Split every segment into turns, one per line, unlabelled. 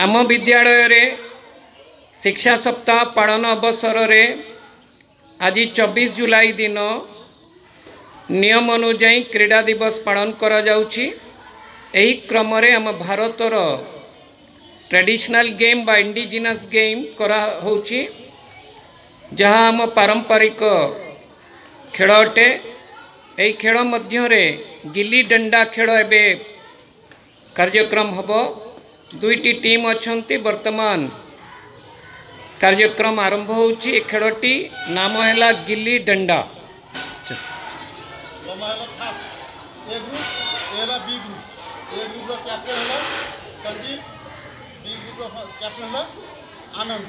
ଆମ ବିଦ୍ୟାଳୟରେ ଶିକ୍ଷା ସପ୍ତାହ ପାଳନ ଅବସରରେ ଆଜି 24 ଜୁଲାଇ ଦିନ ନିୟମ ଅନୁଯାୟୀ କ୍ରୀଡ଼ା ଦିବସ ପାଳନ କରାଯାଉଛି। ଏହି କ୍ରମରେ ଆମ ଭାରତର ଟ୍ରାଡିସନାଲ୍ ଗେମ୍ ବା ଇଣ୍ଡିଜିନସ୍ ଗେମ୍ କରାହେଉଛି, ଯାହା ଆମ ପାରମ୍ପରିକ ଖେଳ ଅଟେ। ଏହି ଖେଳ ମଧ୍ୟରେ ଗିଲି ଡଣ୍ଡା ଖେଳ ଏବେ କାର୍ଯ୍ୟକ୍ରମ ହେବ। ଦୁଇଟି ଟିମ୍ ଅଛନ୍ତି। ବର୍ତ୍ତମାନ କାର୍ଯ୍ୟକ୍ରମ ଆରମ୍ଭ ହେଉଛି। ଏ ଖେଳଟି ନାମ ହେଲା ଗିଲି ଡଣ୍ଡା।
ତମ ହେଲା ଫାର୍ଷ୍ଟ ଏ ଗ୍ରୁପ୍, ଏ ହେଲା ବି ଗ୍ରୁପ୍। ଏ ଗ୍ରୁପ୍ର କ୍ୟାପ୍ଟେନ୍ ହେଲା ସଞ୍ଜୀବ, ବି ଗ୍ରୁପ୍ର କ୍ୟାପ୍ଟେନ୍ ହେଲା ଆନନ୍ଦ।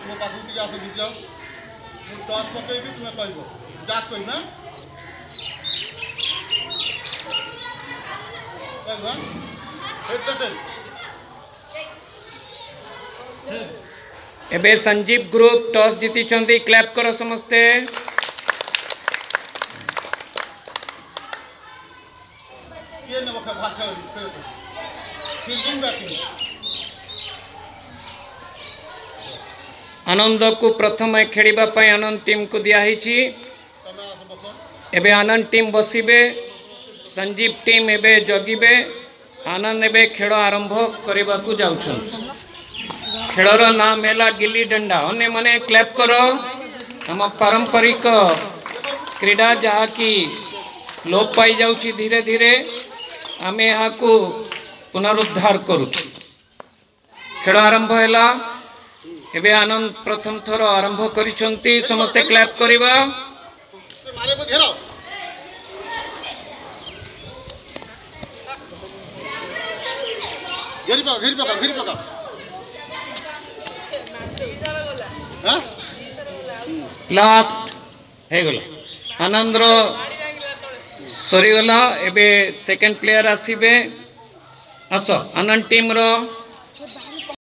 ମୋ ପାଖକୁ ଟିକେ ଆସ, ବୁଝିଯାଅ। ମୁଁ ଟସ୍ ପକେଇବି, ତୁମେ କହିବ, ଯାହା କହିବ କହିବ। Head tail.
ଏବେ ସଞ୍ଜୀବ ଗ୍ରୁପ୍ ଟସ୍ ଜିତିଛନ୍ତି। କ୍ଲାପ୍ କର ସମସ୍ତେ।
କିଏ ନେବ ଫାର୍ଷ୍ଟ ଖେଳ? Fielding, batting?
ଆନନ୍ଦକୁ ପ୍ରଥମେ ଖେଳିବା ପାଇଁ ଆନନ୍ଦ ଟିମ୍କୁ ଦିଆହେଇଛି।
ତମେ ଆସ, ବସ।
ଏବେ ଆନନ୍ଦ ଟିମ୍ ବସିବେ, ସଞ୍ଜୀବ ଟିମ୍ ଏବେ ଜଗିବେ। ଆନନ୍ଦ ଏବେ ଖେଳ ଆରମ୍ଭ କରିବାକୁ ଯାଉଛନ୍ତି। ଖେଳର ନାମ ହେଲା ଗିଲି ଡଣ୍ଡା। ଅନ୍ୟମାନେ କ୍ଲାପ୍ କର। ଆମ ପାରମ୍ପରିକ କ୍ରୀଡ଼ା ଯାହାକି ଲୋପ ପାଇଯାଉଛି ଧୀରେ ଧୀରେ, ଆମେ ଏହାକୁ ପୁନରୁଦ୍ଧାର କରୁଛୁ। ଖେଳ ଆରମ୍ଭ ହେଲା। ଏବେ ଆନନ୍ଦ ପ୍ରଥମ ଥର ଆରମ୍ଭ କରିଛନ୍ତି। ସମସ୍ତେ କ୍ଲାପ୍ କରିବା।
ସେ ମାରିବ, ଘେର ଘେରି ପକା, ଘେରି ପକା, ଘେରି ପକା। ହଁ।
ଲାଷ୍ଟ ହେଇଗଲା, ଆନନ୍ଦର ସରିଗଲା। ଏବେ ସେକେଣ୍ଡ ପ୍ଲେୟାର ଆସିବେ। ଆସ ଆନନ୍ଦ ଟିମ୍ର।